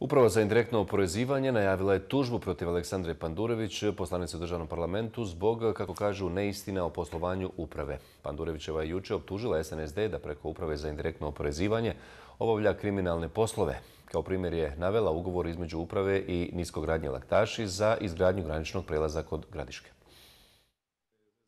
Uprava za indirektno oporezivanje najavila je tužbu protiv Aleksandre Pandurević, poslanice u državnom parlamentu, zbog, kako kažu, neistina o poslovanju uprave. Pandurevićeva je juče optužila SNSD da preko Uprave za indirektno oporezivanje obavlja kriminalne poslove. Kao primjer je navela ugovor između uprave i Niskogradnje Laktaši za izgradnju graničnog prelaza kod Gradiške.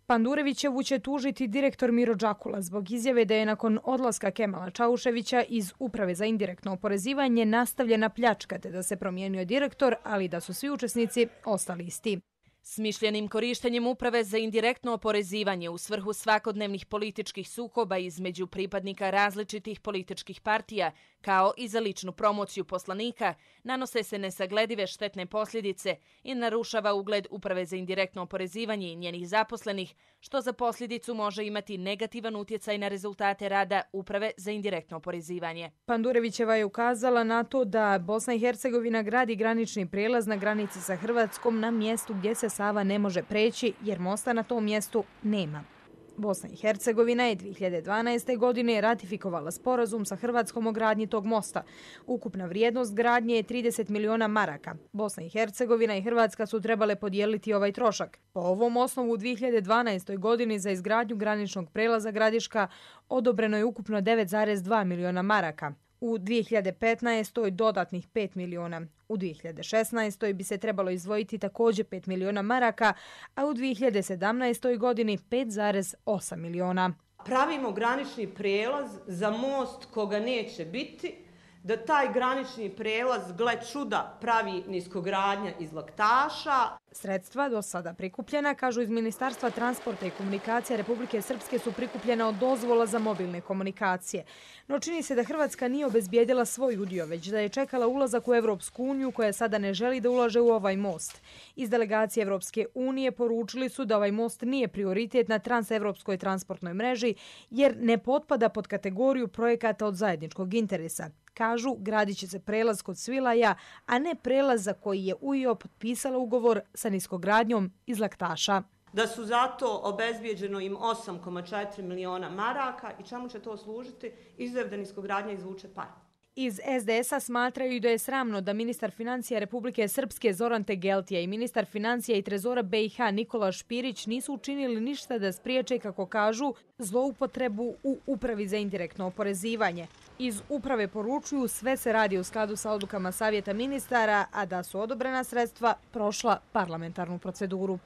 Pandurevićevu će tužiti direktor Miro Đakula zbog izjave da je nakon odlaska Kemala Čauševića iz Uprave za indirektno oporezivanje nastavljena pljačka te da se promijenio direktor, ali da su svi učesnici ostali isti. Smišljenim korištenjem Uprave za indirektno oporezivanje u svrhu svakodnevnih političkih sukoba između pripadnika različitih političkih partija, kao i za ličnu promociju poslanika, nanose se nesagledive štetne posljedice i narušava ugled Uprave za indirektno oporezivanje i njenih zaposlenih, što za posljedicu može imati negativan utjecaj na rezultate rada Uprave za indirektno oporezivanje. Pandurevićeva je ukazala na to da Bosna i Hercegovina gradi granični prijelaz na granici sa Hrvatskom na mjestu gdje se Sava ne može preći jer mosta na tom mjestu nema. Bosna i Hercegovina je 2012. godine ratifikovala sporazum sa Hrvatskom o gradnji tog mosta. Ukupna vrijednost gradnje je 30 miliona maraka. Bosna i Hercegovina i Hrvatska su trebale podijeliti ovaj trošak. Po ovom osnovu u 2012. godini za izgradnju graničnog prelaza Gradiška odobreno je ukupno 9,2 miliona maraka. U 2015. dodatnih 5 miliona. U 2016. bi se trebalo izdvojiti također 5 miliona maraka, a u 2017. godini 5,8 miliona. Pravimo granični prijelaz za most koga neće biti, da taj granični prijelaz, gle čuda, pravi Niskogradnja iz Laktaša. Sredstva do sada prikupljena, kažu iz Ministarstva transporta i komunikacija Republike Srpske, su prikupljena od dozvola za mobilne komunikacije. No čini se da Hrvatska nije obezbijedila svoj udio, već da je čekala ulazak u Evropsku uniju, koja sada ne želi da ulaže u ovaj most. Iz delegacije Evropske unije poručili su da ovaj most nije prioritet na transevropskoj transportnoj mreži, jer ne potpada pod kategoriju projekata od zajedničkog interesa. Kažu, gradit će se prelaz kod Svilaja, a ne prelaz za koji je UIO potpisala ugovor sa Niskogradnjom iz Laktaša. Da su zato obezbijeđeno im 8,4 miliona maraka i čemu će to služiti? Izgled da Niskogradnja izvuče par. Iz SDS-a smatraju da je sramno da ministar financija Republike Srpske Zoran Tegeltija i ministar financija i trezora BiH Nikola Špirić nisu učinili ništa da spriječe, kako kažu, zloupotrebu u Upravi za indirektno oporezivanje. Iz uprave poručuju sve se radi u skladu sa odlukama Savjeta ministara, a da su odobrena sredstva prošla parlamentarnu proceduru.